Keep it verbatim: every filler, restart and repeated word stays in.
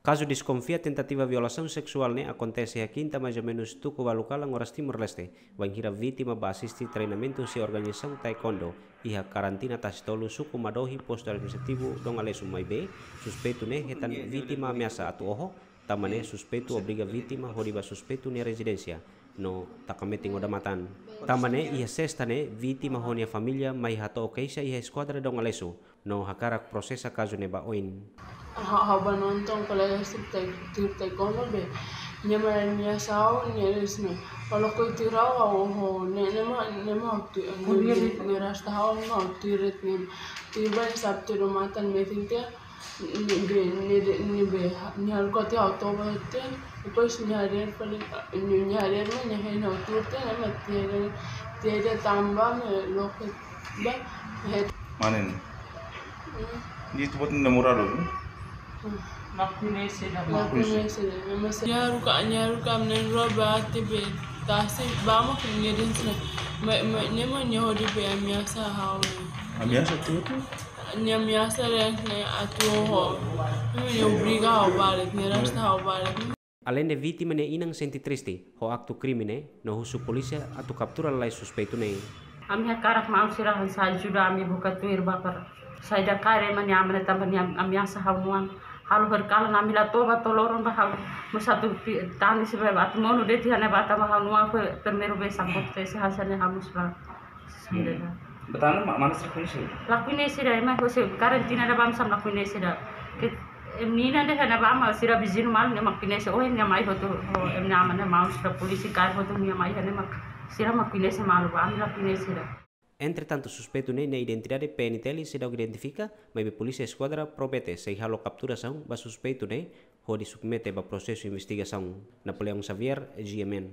Kazu deskonfia tentativa violasaun seksuál ne'e akontese iha kinta, mais ou menus tuku ualu kalan oras Timor-Leste, bainhira vítima ba asiste treinamentu husi organizasaun taekwondo iha karantina Tasitolu, suku Madohi, postu administrativu Dom Aleixo, maibé suspeitu ne'e hetan vítima ameasa atu oho. Tanba ne'e suspeitu obriga vítima hodi ba suspeitu nia rezidénsia no taka metin odamatan. Tanba ne'e iha sesta ne'e vítima ho nia família mai hato'o keixa iha eskuadra Dom Aleixo no hakarak prosesa kazu ne'e ba oin. Ha'u, ha'u ba nonton kolega sira tuir taekwondo be, nia mai ameasa ha'u, nia dehan ne'e, kalau kau tuir ha'u, ha'u, ha'u, ne'e, ne'e mak, ne'e mak ha'u tuir, ne'e, ne'e rasta ha'u mak ha'u tuir de'it ne'e. Tuir ba, ne'e sabe tuir odamatan metin tiha, ne'e be, ne'e be, ne'e be, nia halo koti ha'u toba tiha, depois nia haree fali, nia, nia haree mak, nia hein ha'u tuir tiha, ne'e mak tiha, tiha tanba, ne'e loke ba, het. Mana ne'e? Hmm. Nia atu buat namoradu, hmm? Hmm. Lakohi ne'e seidauk. Lakohi ne'e seidauk. Nia haruka, nia haruka ami na'in-rua ba tiha be tasi ba mak nia dehan ne'e. Mai, mai, ne'e mak nia hodi be ameasa ha'u. Ameasa tuir? Nia ameasa dehan ne'e atu oho. Ne'e mak nia obriga ha'u ba de'it, nia rasta ha'u ba de'it. Aleinde vítima nia inan sente triste ho aktu krime ne'e, no husu polísia atu kaptura lalais suspeitu ne'e. Ami hakarak maun sira hanesan ajuda ami buka tuir ba para saida karik ema nia aman tanba nia ameasa ha'u-nia oan. Halo horikalan ami la toba to'o loron ba ha'u mós atu pi-, tangis be atu monu de'it iha ne'ebá tanba ha'u-nia oan foin primeiru vez sambut te se hanesan ne'e ha'u mós la. Hmm. Ba tan ne'e ma-, mana sira koñese? La koñese ida, ema husi karantina ida ba ami sira la koñese ida. Ke, em, nina de hena ba mak sira viziñu malu ne'e mak koñese, oh, nia mai hotu, oh, ema nia aman ne'e maun sira polísia kaer hotu nia mai iha ne'e mak sira mak koñese malu ba, ami la koñese ida. Entretantu, suspeitu ne'e nia identidade P N T L seidauk identifika, maibé polísia eskuadra promete sei halo kapturasaun ba suspeitu ne'e hodi submete ba prosesu investigasaun. Napoleão Xavier, G M N.